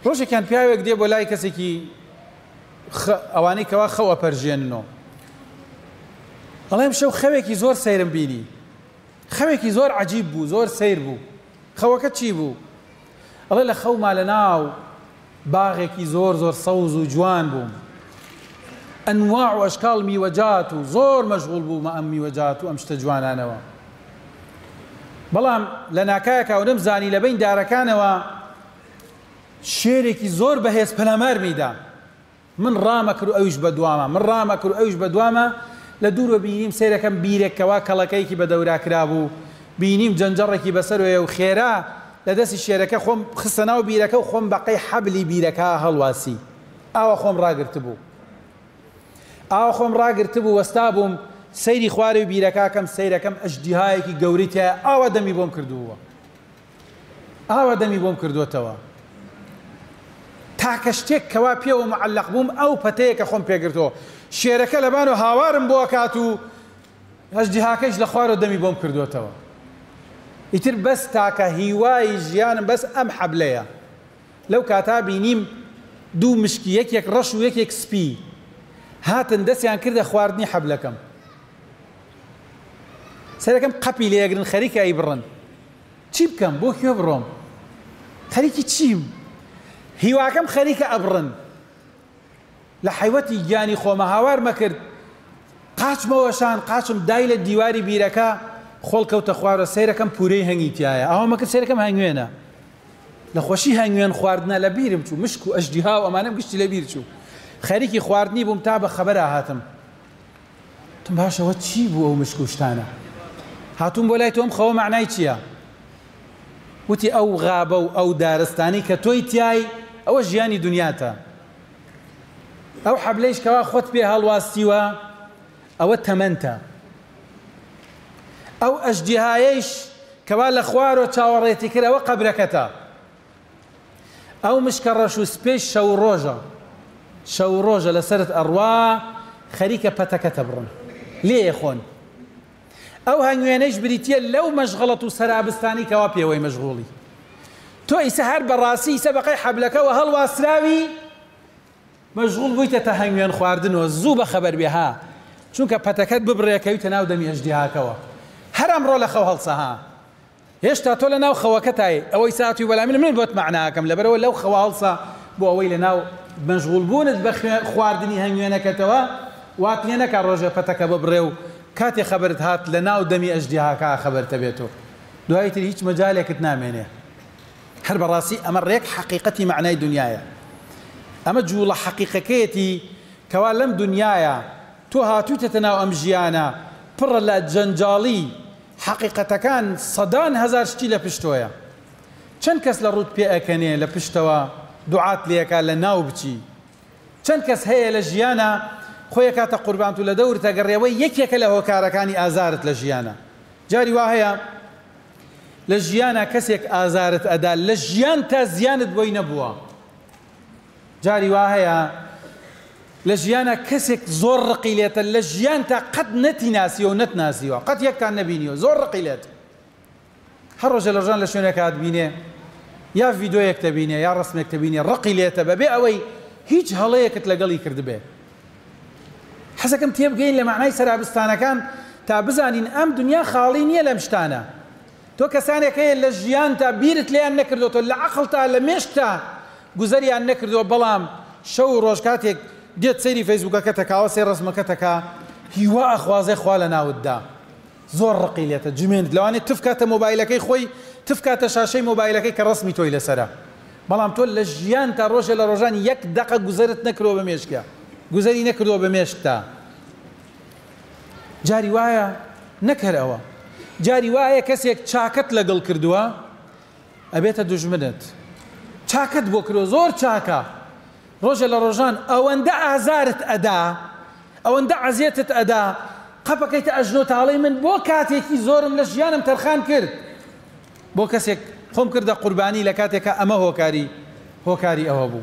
ڕۆژێکیان پیاوێک دێ بۆ لای کەسێکی ئەوانەی کەوا خەو ئەپەرژێننەوە، ئەڵێم شەو خەوێکی زۆر سەیرم بینی، خەوێکی زۆر عەجیب بوو، زۆر سەیر بوو. خەوەکە چی بوو؟ ئەڵێ لە خەوما لە ناو باغێکی زۆر زۆر سەوز و جوان بووم، ئەنواع و ئەشکاڵ میوەجات و زۆر مەشغوڵ بوومە ئەم میوەجات و ئەم شتە جوانانەوە. بەڵام لە ناکایەکا و نەمزانی لە بەین دارەکانەوە شێرێکی زۆر بەهێز پەلامارمی دا. من ڕامەکرد و ئەویش بەدواما، من ڕامەکرد و ئەویش بەدواما، لە دوورەوە بینیم سەیرەکەم بیرێک کەوا کەڵەکەیەکی بەدەورا کرابوو، بینیم جەنجەڕێکی بەسەرۆیە و خێرا لە دەستی شێرەکە خۆم خستە ناو بیرەکە و خۆم بەقەی حەبلی بیرەکە هەڵواسی. ئاوا خۆم ڕاگرتبوو. ئاوا خۆم ڕاگرتبوو وەستابووم سەیری خوارەوی بیرەکە ئەکەم سەیرەکەم ئەژدیهایەکی گەورەی تیایە ئاوا دەمی بۆم کردبووە. ئاوا دەمی بۆم کردۆتەوە. تاکە شتێک کەوا پێوە معەلەق بووم ئەو پەتەیە کە خۆم پێگرتووە. شێرەکە لەبانەوە هاوارم بۆ ئەکات و ئەژدیهاکەیش لە خوارەوە دەمی بۆم کردۆتەوە. ئیتر بەس تاکە هیوای ژیانم بەس ئەم حەبلەیە. لەو کاتە بینیم دوو مشکی یەکێک ڕەش و یەکێک سپی هاتن دەستیان کردە خواردنی حەبلەکەم. سەرەکەم قەپی لێگرن خەریکە ئەیبڕن. چی بکەم بۆ کوێ بڕۆم خەریکی چیم هیواکەم خەریکە ئەبڕن لە حەیوەتی گیانی خۆمە هاوارمە کرد قاچمە وەشان قاچم دای لە دیواری بیرەکە خۆڵ کەوتە خوارە سەیرەکەم پورەی هەنگی تایە ئەوە مەکرد سەیرەکەم هەنگوێنە لە خۆشی هەنگوێن خواردنە لە بیرم چوو مشک و ئەژدیها و ئەمانەم گشتی لە بیر چوو خەریکی خواردنی بووم تا بە خەبەرا هاتم وتم باشە ئەوە چی بوو ئەو مشک و شتانە هاتووم بۆ لای تۆ ئەم خەوە مەعنای چییە؟ وتی ئەو غابە و ئەو دارستانی کە تۆی تیای ئەوە ژیانی دنیاتە ئەو حەبلەیش کەوا خۆت پێ هەڵواستیوە ئەوە تەمەنتە ئەو ئەژدیهایەیش کەوا لە خوارەوە چاوەڕێتی کرد ئەوە قەبرەکەتە ئەو مشکە ڕەش و سپێش شەو و ڕۆژە شەو و ڕۆژە لەسەرت ئەڕوا خەریکە پەتەکەتە بڕن لێ خۆن ئەو هەنگوێنەیش بریتیە لەو مەشغەڵەت و سەرابستانی کەوا پێوەی مەشغوڵی تۆ ئیسە هەر بەڕاستی ئیسە بەقەی حەبلەکەوە هەڵواسراوی مەشغوڵ بوویتە تە هەنگوێن خواردنەوە زوو بەخەبەر بێ ها چونکە پەتەکەت ببڕێ کەویتە ناو دەمی ئەژدیهاکەوە هەر ئەمڕۆ لە خەو هەڵسە ها هێشتا تۆ لەناو خەوەکەتای ئەوەی ساتوی بەلای من من بۆت مەعنا ئەکەم لەبەرئەوە لەو خەوە هەڵسە بۆ ئەوەی لەناو مەشغوڵ بوونت بە خواردنی هەنگوێنەکەتەوە وات لێ نەکا ڕۆژێ پەتەکە ببڕێ و کاتێ خەبەرت هات لەناو دەمی ئەژدیهاکە خەبەرتە بێتۆ دوایی تر هیچ مەجالێکت نامێنێ هەر بەڕاستی ئەمە ڕێک حەقیقەتی مەعنای دونیایە ئەمە جوڵە حەقیقەکەیەتی کەوا لەم دونیایە تۆ هاتوویتەتە ناو ئەم ژیانە پڕە لە جەنجاڵی حەقیقەتەکان سەدان هەزار شتی لە پشتۆیە چەند کەس لە ڕووت پێ ئەکەنێ لە پشتەوە دوعات لێ ئەکا لە ناو بچی چەند کەس هەیە لە ژیانا خۆی ئەکاتە قوربانت و لە دەورت ئەگەڕێ وەی یەکێکە لە هۆکارەکانی ئازارت لە ژیانا جاری وا هەیە لە ژیانا کەسێک ئازارت ئەدا لە ژیانتا زیانت بۆی نەبووە جاری وا هەیە لە ژیانا کەسێک زۆر ڕقی لێتە لە ژیانتا قەت نەتی ناسیوە و نەتناسیوە قەت یەکتان نەبینیوە زۆر ڕقی لێتە هەر ڕۆژێ لە ڕۆژان لە شوێنێک هاتبینێ یا ڤیدۆیەک تەبینێ یا ڕسمێک تەبینێ ڕقی لێتە بەبێ ئەوەی هیچ هەڵەیەکت لەگەڵی کردبێ حەزەکەم تێبگەین لە مەعنای سەرابستانەکان تا بزانین ئەم دنیا خاڵی نییە لەم شتانە تۆ کەسانێک هەیە لە ژیانتا بیرت لێیان نەکردۆتەوە لە عەقڵتا لە مێشکتا گوزەریان نەکردووە بەڵام شەو و ڕۆژ کاتێک دێت سەیری فەیسبوکەکەت ئەکا سەیر ڕەسمەکەت ئەکا هیوا ئەخوازێ خوا لە ناوت دا زۆر ڕقی لێتە جمێنت لەوانەیە تف کاتە مۆبایلەکەی خۆی تف کاتە شاشەی مۆبایلەکەی کە ڕەسمی تۆی لەسەرە بەڵام تۆ لە ژیانتا ڕۆژێ لە ڕۆژان یەک دەقە گوزەرت نەکردووە بە مێشکیا گوزەری نەکردووە بە مێشکتا جاری وایە نەک هەر ئەوە جاری وایە کەسێک چاکەت لەگەڵ کردووە ئەبێتە دوژمنت چاکەت بۆ کردووە زۆر چاکە ڕۆژێ لە ڕۆژان ئەوەندە ئازارت ئەدا ئەوەندە عەزێتت ئەدا قەپەکەیتە ئەژنۆ تاڵەی من بۆ کاتێکی زۆرم لە ژیانم تەرخان کرد بۆ کەسێک خۆم کردە قوربانی لە کاتێکا ئەمە هۆکاری هۆکاری ئەوە بوو.